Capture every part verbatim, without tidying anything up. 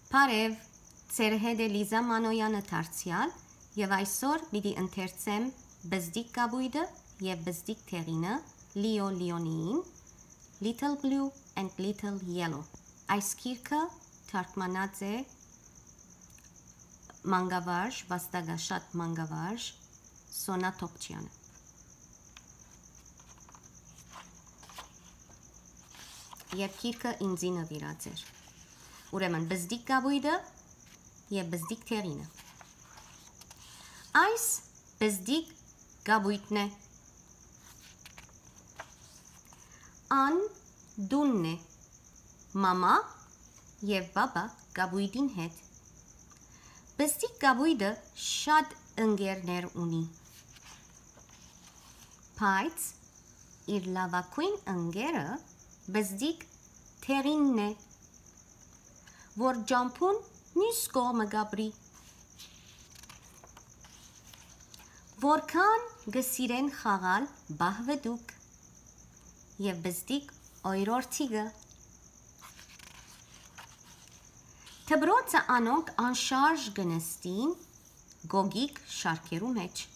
Բարեւ, ձեր հետ է Լիզա Մանոյանը դարձեալ, եւ այսօր պիտի ընթերցեմ Բզդիկ կապոյտը եւ Բզդիկ դեղինը Լիո Լիոնիին, Little Blue and Little Yellow։ Այս գիրքը թարգմանած է մանկավարժ, վաստակաշատ մանկավարժ Սոնա Թոփչյանը։ Եւ գիրքը ինձի նուիրած էր։ Ուրեմն, Բզդիկ կապոյտը եւ Բզդիկ դեղինը։ Այս Բզդիկ կապոյտն է։ Ան տունն է։ Մամա եւ պապա կապոյտին հետ։ Բզդիկ կապոյտը շատ ընկերներ ունի, բայց իր լաւագոյն ընկերը Բզդիկ դեղինն է, որ ճամբուն միւս կողմը կապրի։ Որքան կը սիրեն խաղալ պահվտուկ եւ Բզդիկ օրորթիկը։ Դպրոցը անոնք անշարժ կը նստին գոգիկ շարքերու մեջ։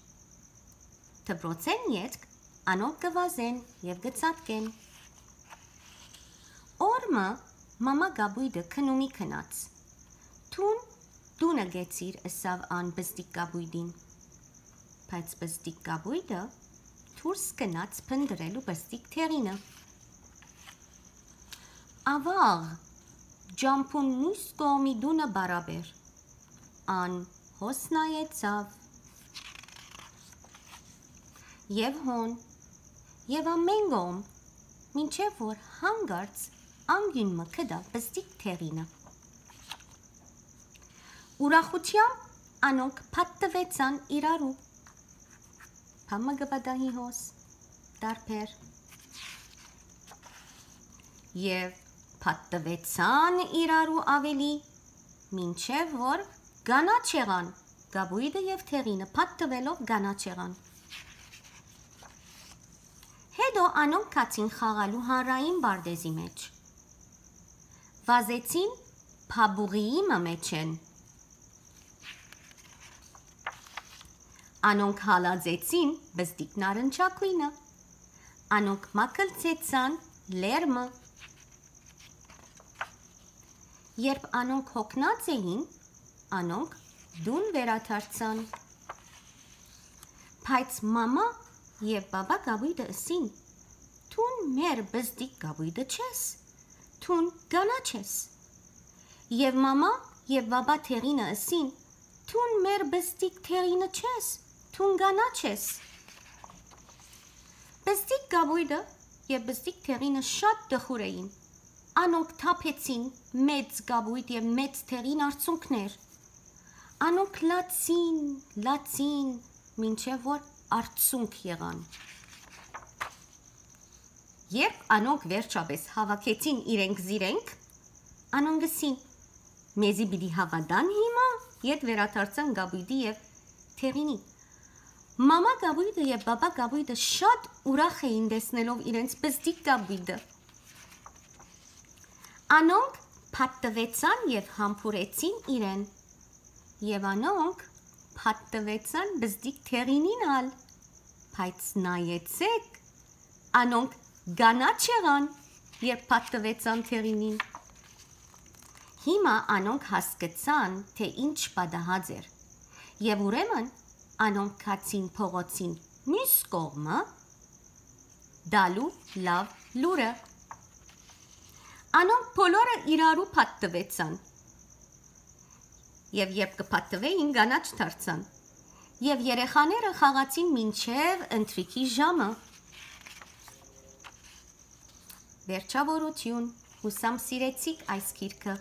Դպրոցէն ետք անոնք կը վազեն եւ կը ցատկեն։ Օր մը մամա կապոյտը քնումի գնաց։ «Դուն տունը կեցիր», ըսաւ ան Բզդիկ կապոյտին։ Բայց Բզդիկ կապոյտը դուրս գնաց փնտռելու Բզդիկ դեղինը։ Աւաղ, ճամբուն միւս կողմի տունը պարապ էր։ Ան հոս նայեցաւ։ Եւ հոն, եւ ամէն կողմ, մինչեւ որ հանկարծ անկիւն մը գտաւ Բզդիկ դեղինը։ Ուրախութեամբ անոնք փաթթուեցան իրարու։ Բան մը կը պատահի հոս, տարբեր։ Եւ փաթթուեցան իրարու աւելի, մինչեւ որ կանաչ եղան, կապոյտը եւ դեղինը փաթթուելով կանաչ եղան։ Հետո անոնք գացին խաղալու հանրային պարտէզի մեջ։ Վազեցին փաբուղիի մը մէջէն։ Անոնք հալածեցին Բզդիկ նարնջագոյնը։ Անոնք մագլցեցան լերմը։ Երբ անոնք հոգնած էին, անոնք տուն վերադարձան։ Բայց մամա եւ պապա կապոյտը ըսին. «Դուն մեր Բզդիկ կապոյտը չես, դուն կանաչ ես»։ Եւ մամա եւ պապա դեղինը ըսին. «Դուն մեր Բզդիկ դեղինը չես, դուն կանաչ ես»։ Բզդիկ կապոյտը եւ Բզդիկ դեղինը շատ տխուր էին։ Անոնք թափեցին մեծ կապոյտ եւ մեծ դեղին արցունքներ։ Անոնք լացին, լացին, մինչեւ որ արցունք եղան։ Երբ անոնք վերջապէս հաւաքեցին իրենք զիրենք, անոնք ըսին. «Մեզի պիտի հաւատան հիմա»։ Ետ վերադարձան կապոյտի եւ դեղինի։ Մամա կապոյտը եւ պապա կապոյտը շատ ուրախ էին տեսնելով իրենց Բզդիկ կապոյտը։ Անոնք փաթթուեցան եւ համբուրեցին իրեն։ Եւ անոնք փաթթուեցան Բզդիկ դեղինին ալ, բայց նայեցէք, անոնք կանաչ եղան, երբ փաթթուեցան դեղինին։ Հիմա անոնք հասկցան, թէ ինչ պատահած էր, եւ ուրեմն անոնք գացին փողոցին միւս կողմը տալու լաւ լուրը։ Անոնք բոլորը իրարու փաթթուեցան, եւ երբ կը փաթթուէին, կանաչ դարձան, եւ երեխաները խաղացին մինչեւ ընթրիքի ժամը։ Վերջավորութիւն, ուսամ սիրեցիք այս գիրքը։